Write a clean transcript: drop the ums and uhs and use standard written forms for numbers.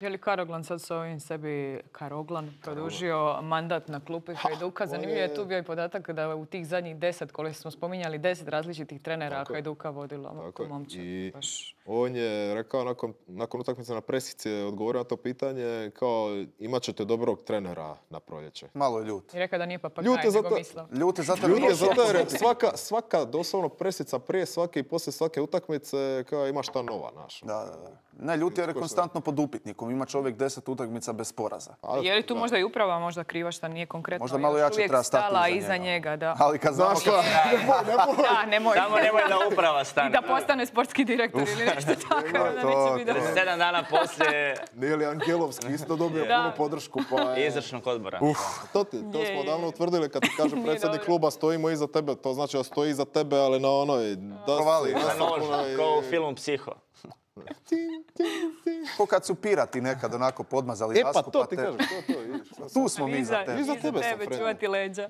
Je li Karoglan sad s ovim sebi produžio mandat na klupi Hajduka? Zanimljivo je tu bio i podatak da u tih zadnjih 10, koliko smo spominjali, 10 različitih trenera Hajduka vodilo tu momčad. I on je rekao nakon utakmice na presici, odgovorio na to pitanje kao imat ćete dobrog trenera na proljeće. Malo je ljut. I rekao da nije Papagaj, nego Mislav. Ljut je zato jer svaka doslovno presica prije svake i poslije svake utakmice kao ima šta nova naša. Da. Ne, ljut je konstantno pod upitnikom. Ima čovjek 10 utakmica bez poraza. Je li tu možda i uprava možda kriva šta nije konkretno? Možda malo jače treba stati iza njega. Da. Ali kad znaš šta... Nemoj. Samo nemoj da uprava stane. I da postane sportski direktor ili nešto tako. Da neće biti 7 dana poslije... Nije li Angelovski isto dobio punu podršku? Izvršnog odbora. To smo davno utvrdili kad ti kaže predsjednik kluba stojimo iza tebe. To znači da stoji iza tebe, ali na onoj... Provali. Kao u filmu Psiho. Ko kad su pirati nekad onako podmazali dasku. E pa to ti kažeš, to. Tu smo mi za tebe. Iza tebe sam, čuvati leđa.